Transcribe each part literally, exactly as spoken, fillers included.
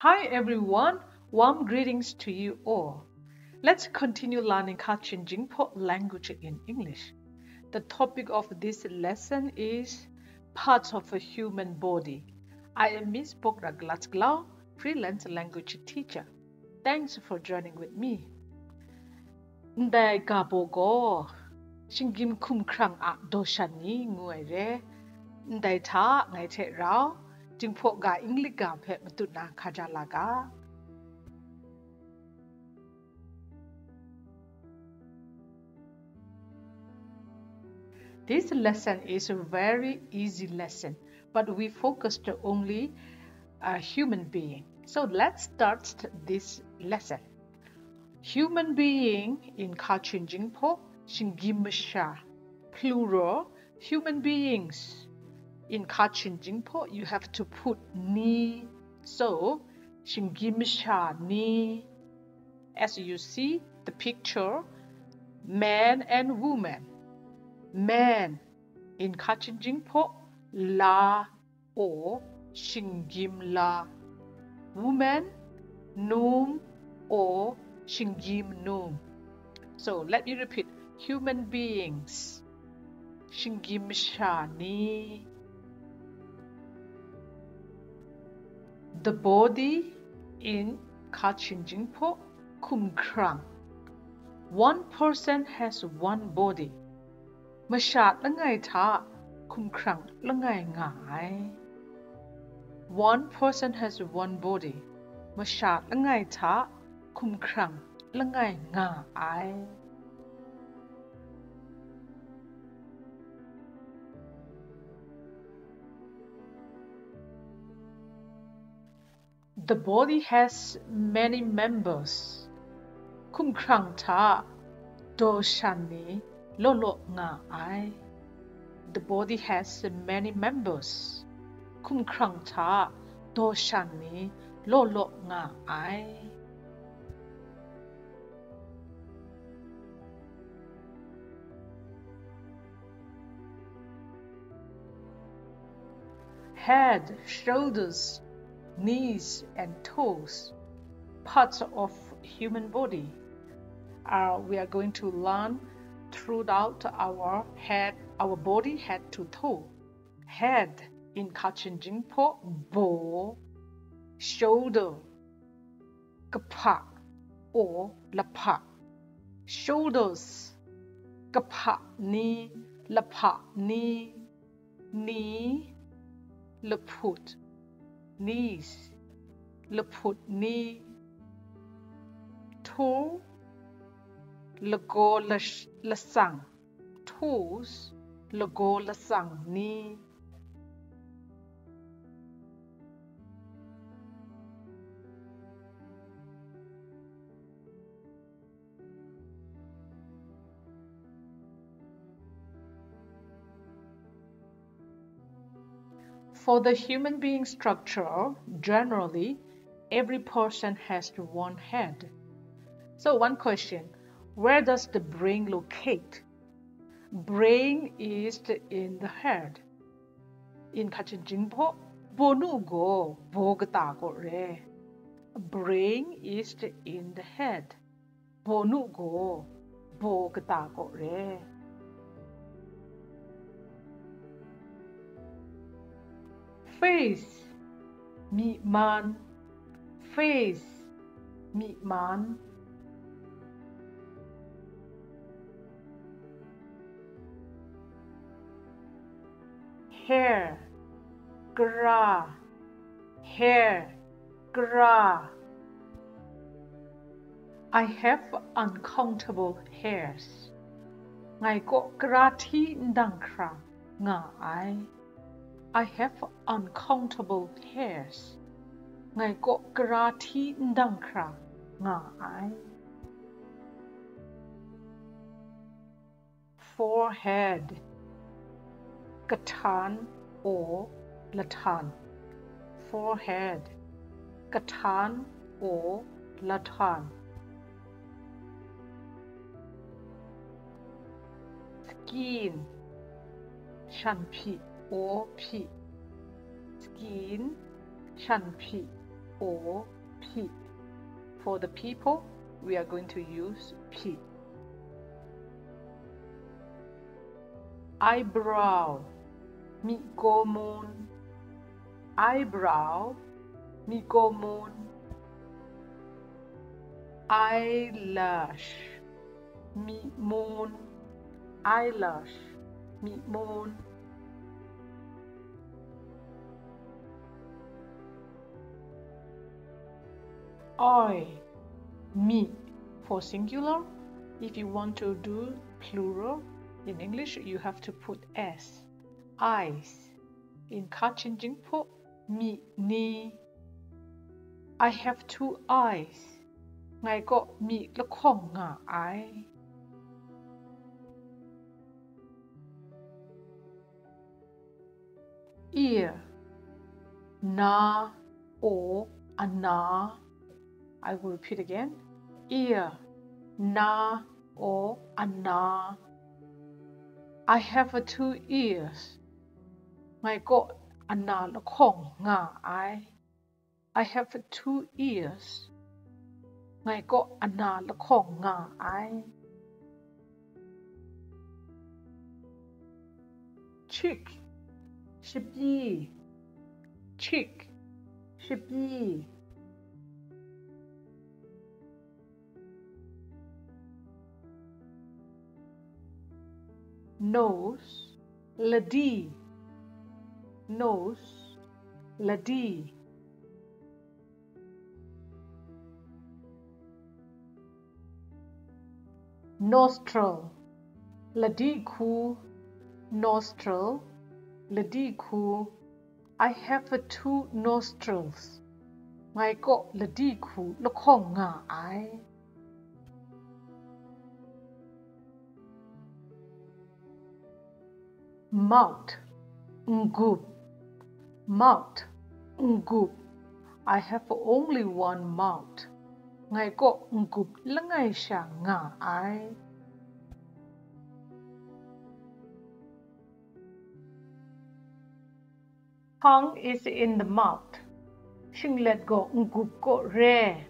Hi everyone, warm greetings to you all. Let's continue learning Kachin Jingpo language in English. The topic of this lesson is parts of a human body. I am Miss Pokra Glatglau, freelance language teacher. Thanks for joining with me. Ndai ga baw gaw, shinggyim hkum hkrang a daw shan ni ngu ai re. Ndai hta ngai hte rau, Jinghpaw ga English ga hpe matut na hkaja la ga. This lesson is a very easy lesson, but we focused only a human being. So let's start this lesson. Human being in Kachin Jingpo, shinggyim masha, plural, human beings. In Kachin Jingpo, you have to put ni. So, shinggyim masha ni. As you see the picture, man and woman. Man in Kachin Jingpo, la or shinggyim la. Woman, num or shinggyim num. So let me repeat. Human beings. Shinggyim masha ni. The body in Kachin Jingpo, hkum hkrang. One person has one body. Masha langai hta hkum hkrang langai nga ai. One person has one body. Masha langai hta hkum hkrang langai nga ai. The body has many members. Hkum hkrang hta daw shan ni law law nga ai. The body has many members. Hkum hkrang hta daw shan ni law law nga ai. Head, shoulders, knees, and toes, parts of human body. Uh, we are going to learn throughout our head, our body, head to toe. Head in Kachin Jingpo, baw, shoulder, kahpa or lahpa. Shoulders, kahpa ni, lahpa ni, ni, lahput, knees, lahput ni, toe, lagaw lash-, lasang, toes, lagaw lasang ni. For the human being structure, generally, every person has one head. So, one question, where does the brain locate? Brain is in the head. In Kachin Jingpo, baw nu gaw baw kata kaw re. Brain is in the head. Baw nu gaw baw kata kaw re. Face, myi man. Face, myi man. Hair, kara. Hair, kara. I have uncountable hairs. Ngai kaw kara hti ndang hkra nga ai. I have uncountable hairs. Ngai kaw kara hti ndang hkra nga ai. Forehead, kahtan or lahtan. Forehead, kahtan or lahtan. Skin, shan hpyi or hpyi. Skin, shan hpyi or phi. For the people, we are going to use phi. Eyebrow, myi kaw mun. Eyebrow, myi kaw mun. Eyelash, myi mun. Eyelash, myi mun. Eye, myi for singular. If you want to do plural in English, you have to put s. Eyes. In Kachin Jinghpaw, myi ni. I have two eyes. Ngai kaw myi lahkawng nga ai. Ear, na, or ana. I will repeat again. Ear, na, or ana. I have a two ears. Ngai kaw ana lahkawng nga ai. I have two ears. Ngai kaw ana lahkawng nga ai. Cheek, shapyi. Cheek, shapyi. Nose, ladi. Nose, ladi. Nostril, ladi hku. Nostril, ladi hku. I have a two nostrils. Ngai kaw ladi hku lahkawng nga ai. Mouth, n-gup. Mouth, n-gup. I have only one mouth. Ngai kaw n-gup langai sha nga ai. Tongue is in the mouth. Shinglet gaw n-gup kaw re.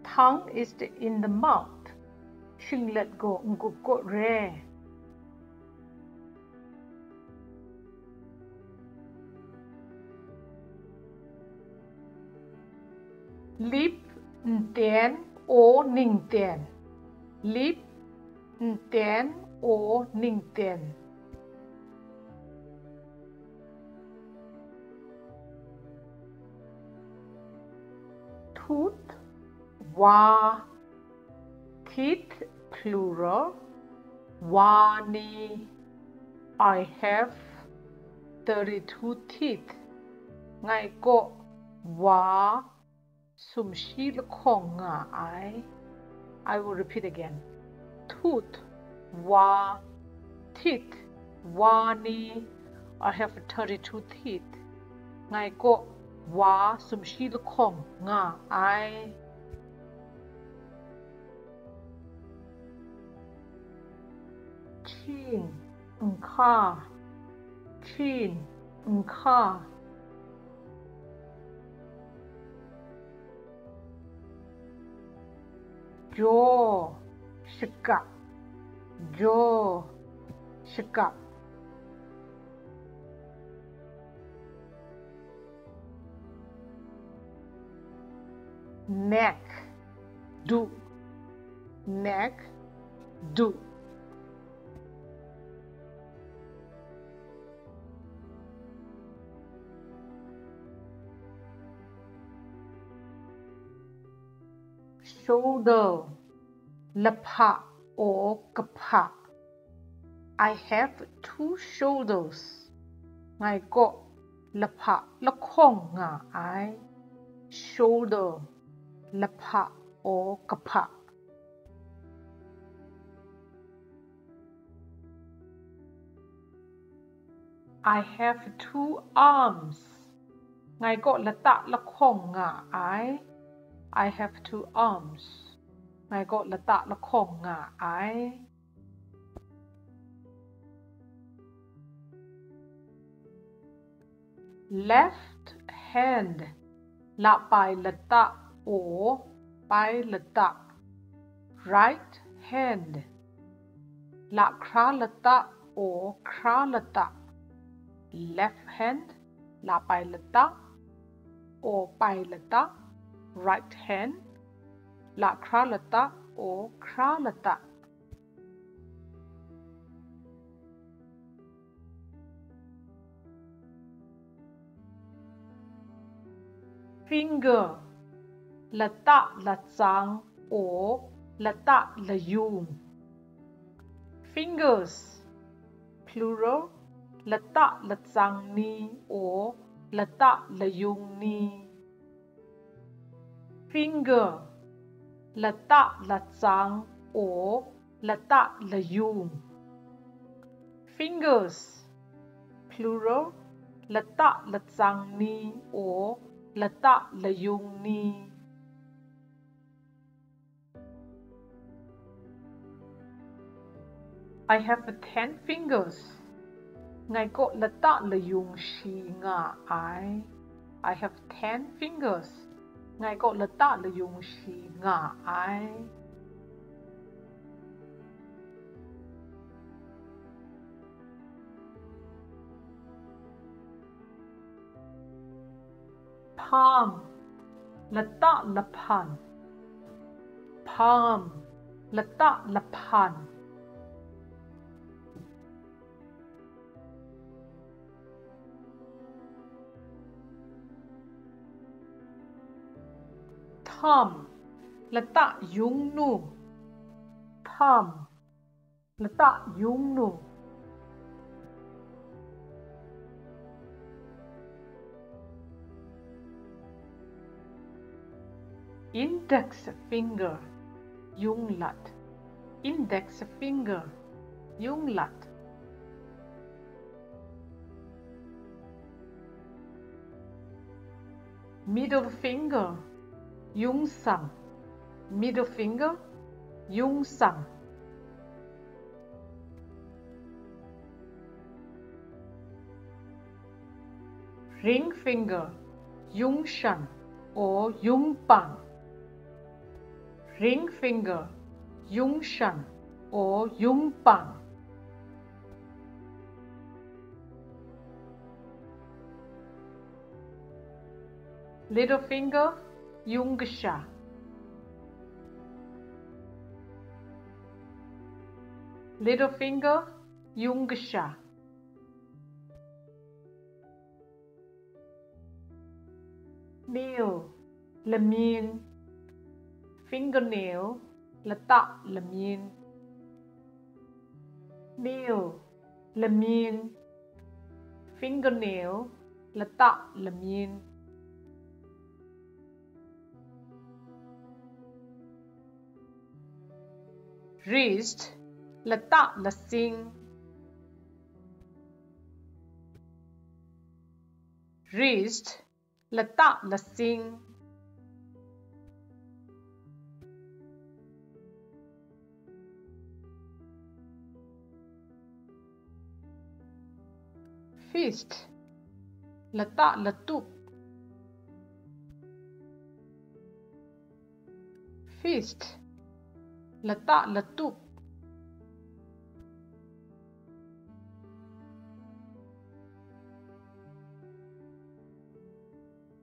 Tongue is in the mouth. Shinglet gaw n-gup kaw re. Lip, nten, or ningten. Lip, nten, or ningten. Tooth, wa. Teeth, plural, wa ni. I have thirty-two teeth. Ngai kaw wa sumshi lahkawng nga ai. I will repeat again. Tooth, wa. Teeth, wa ni. I have thirty-two teeth. Ngai kaw wa sumshi lahkawng nga ai. Chin, nhka. Chin, nhka. Jaw, shakap. Jaw, shakap. Neck, du. Neck, du. Shoulder, lahpa or kahpa. I have two shoulders. Ngai kaw lahpa lahkawng nga ai. Shoulder, lahpa or kahpa. I have two arms. Ngai kaw lata lahkawng nga ai. I have two arms. Ngai kaw lata lahkawng nga ai. Left hand. Lapai lata o, pai lata. Right hand. Lahkra lata o, hkra lata. Left hand. Lapai lata o, pai lata. Right hand. Lahkra lata o, hkra lata. Finger. Lata latsang o, lata layung. Fingers. Plural. Lata latsang ni o, lata layung ni. Finger. Lata latsang o, lata layung. Fingers. Plural. Lata latsang ni o, lata layung ni. I have ten fingers. Ngai kaw lata layung shi nga ai. I have ten fingers. Ngai kaw lata layung shi nga ai. Palm. Lata lahpan. Palm. Lata lahpan. Thumb. Lata yungnu. Thumb. Lata yungnu. Index finger. Yunglat. Index finger. Yunglat. Middle finger. Yungsam. Middle finger. Yungsam. Ring finger. Yungshan or yungpang. Ring finger. Yungshan or yungpang. Little finger. Yungkasha. Little finger. Yungkasha. Nail. Lamyin. Fingernail. Lata lamyin. Nail. Lamyin. Fingernail. Lata lamyin. Wrist. Lata lasing. Wrist. Lata lasing. Fist. Lata latup. Fist. Lata latup.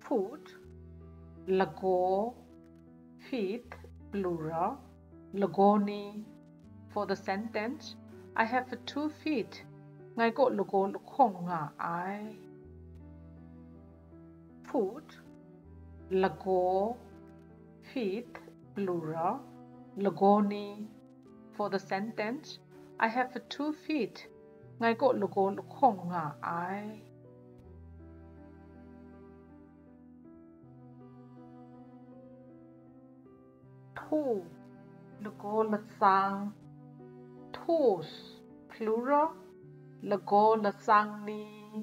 Foot. Lagaw. Feet, plural. Lagaw ni. For the sentence, I have two feet. Ngai kaw lagaw lahkawng nga ai. Foot. Lagaw. Feet, plural. Lagaw ni. For the sentence, I have two feet. Ngai kaw lagaw lahkawng nga ai. Toe. Lagaw latsang. Toes, plural. Lagaw latsang ni.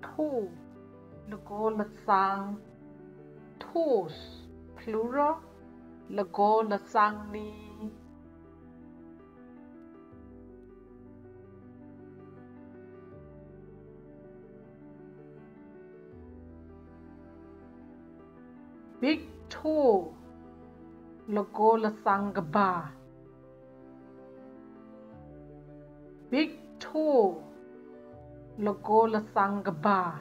Toe. Lagaw latsang. Toes, plural. Lagaw latsang ni. Big toe, lagaw latsang kaba. Big toe, lagaw latsang kaba.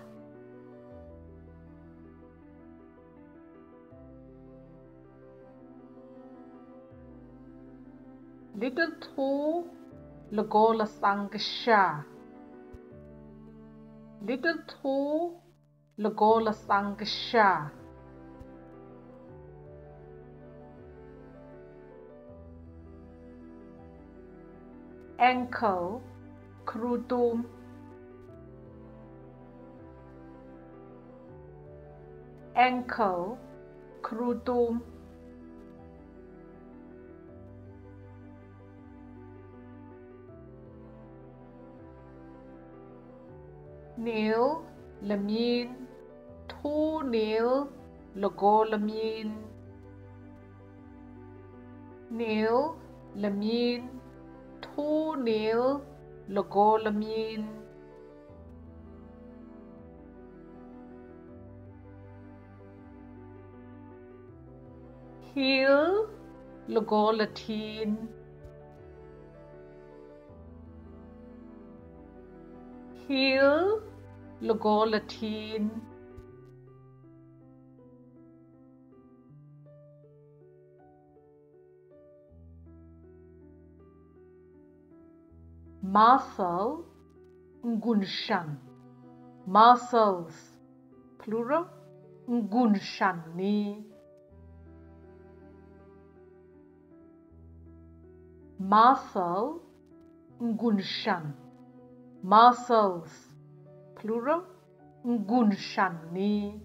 Little toe, lagaw latsang kasha. Little toe, lagaw latsang kasha. Ankle, hkarutum. Ankle, hkarutum. Nail, lamyin. Toe nail, lagaw lamyin. Nail, lamyin. Toe nail, lagaw lamyin. Heel, lagaw lahtin. Heel, lagaw lahtin. Muscle, n-gun shan. Muscles, plural, n-gun shan ni. Muscle, n-gun shan. Muscles, plural, n-gun shan ni.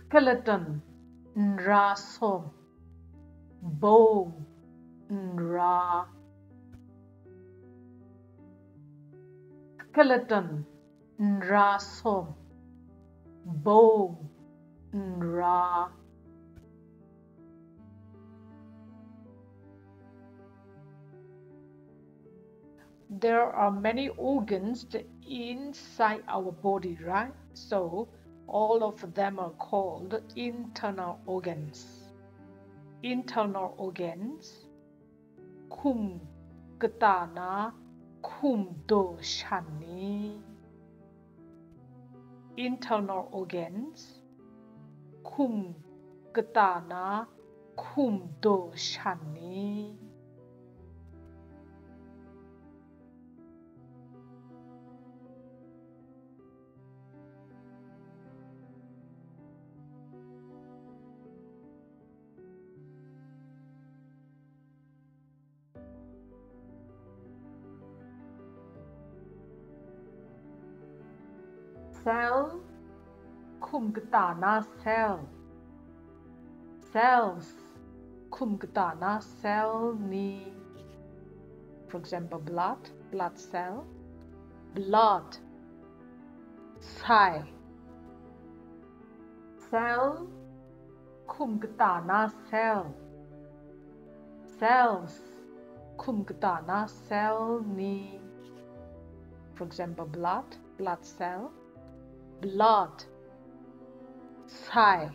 Skeleton, nra sawm. Bone, nra. Skeleton, nra sawm. Bone, nra. There are many organs inside our body, right? So all of them are called internal organs. Internal organs, hkum kata na hkum daw shan ni. Internal organs, hkum kata na hkum daw shan ni. Cell, hkum kata na cell. Cells, hkum kata na cell ni. For example, blood, blood cell. Blood, sai. Cell, hkum kata na cell. Cells, hkum kata na cell ni. For example, blood, blood cell. Blood, sai.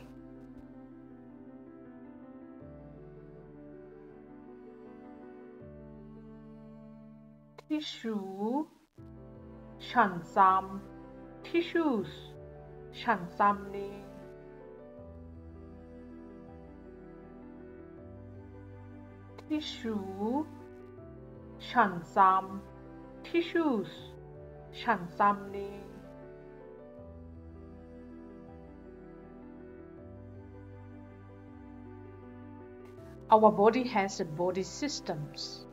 Tissue, shan tsam. Tissues, shan tsam ni. Tissue, shan tsam. Tissues, shan tsam ni. Our body has a body systems.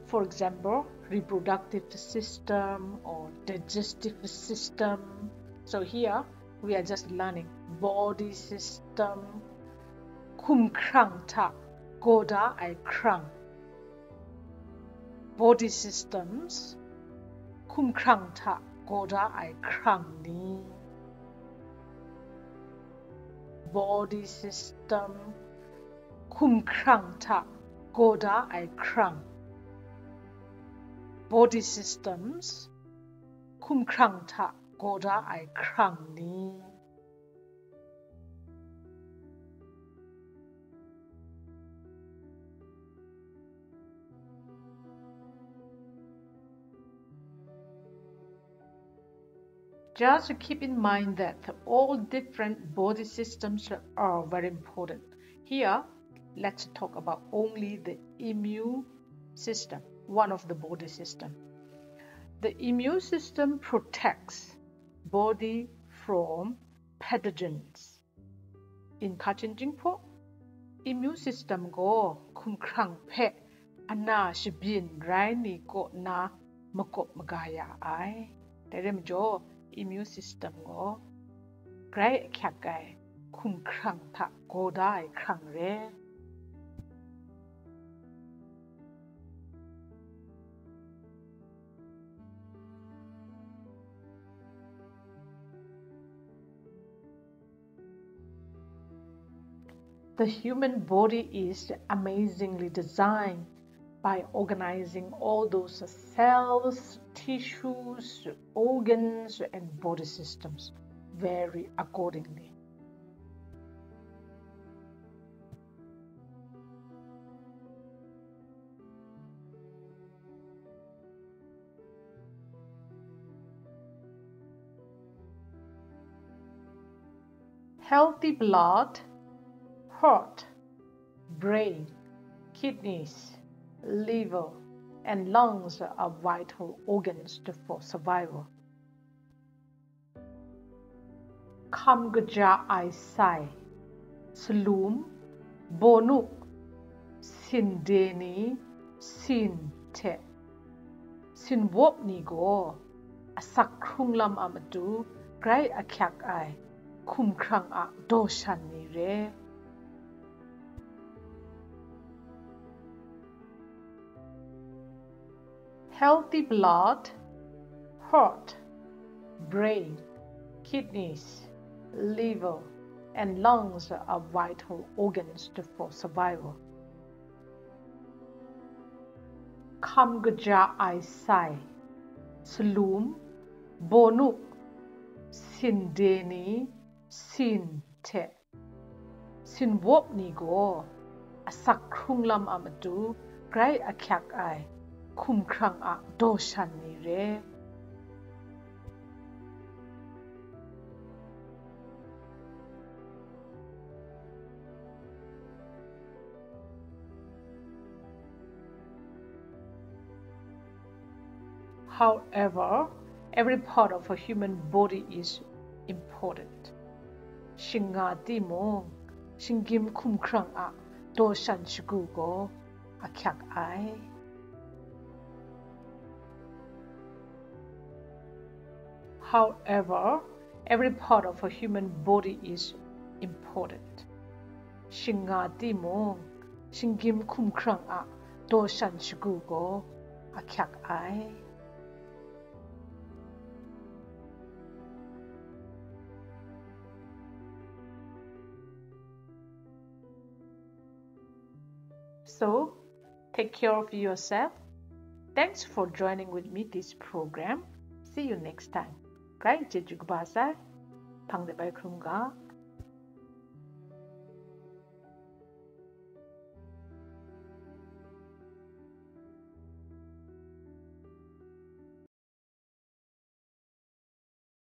For example, reproductive system or digestive system. So here we are just learning body system. Hkum hkrang hta gaw da ai hkrang. Body systems, hkum hkrang hta gaw da ai hkrang ni. Body system, hkum hkrang hta gaw da ai hkrang. Body systems, hkumhkrang hta gaw da ai hkrang ni. Just keep in mind that all different body systems are very important. Here, let's talk about only the immune system, one of the body system. The immune system protects body from pathogens. Inhka chyen chyinghpaw, immune system gaw hkumhkrang hpe ana shabyin rai ni kaw na makawp maga ya ai. Dai rai majaw, immune system gaw grai ahkyak ai hkumhkrang hta gaw da ai hkrang re. The human body is amazingly designed by organizing all those cells, tissues, organs, and body systems vary accordingly. Healthy blood, heart, brain, kidneys, liver, and lungs are vital organs to, for survival. Hkam kaja ai sai, salum, bawnu, sinde ni, sin hte sinwawp ni gaw asak hkrung lam a matu grai ahkyak ai hkumhkrang a daw shan ni re. Healthy blood, heart, brain, kidneys, liver, and lungs are vital organs to, for survival. Hkam kaja ai sai, salum, bawnu, sinde ni, sin hte sinwawp ni gaw asak hkrung lam a matu grai ahkyak ai hkumhkrang a daw shan ni re. However, every part of a human body is important. Shingnga timung, shinggyim hkumhkrang a daw shan shagu gaw ahkyak ai. However, every part of a human body is important. Shingnga timung, shinggyim hkumhkrang a daw shan shagu gaw ahkyak ai. So, take care of yourself. Thanks for joining with me this program. See you next time. Grai chyeju kaba sai. Hpang de bai hkrum ga.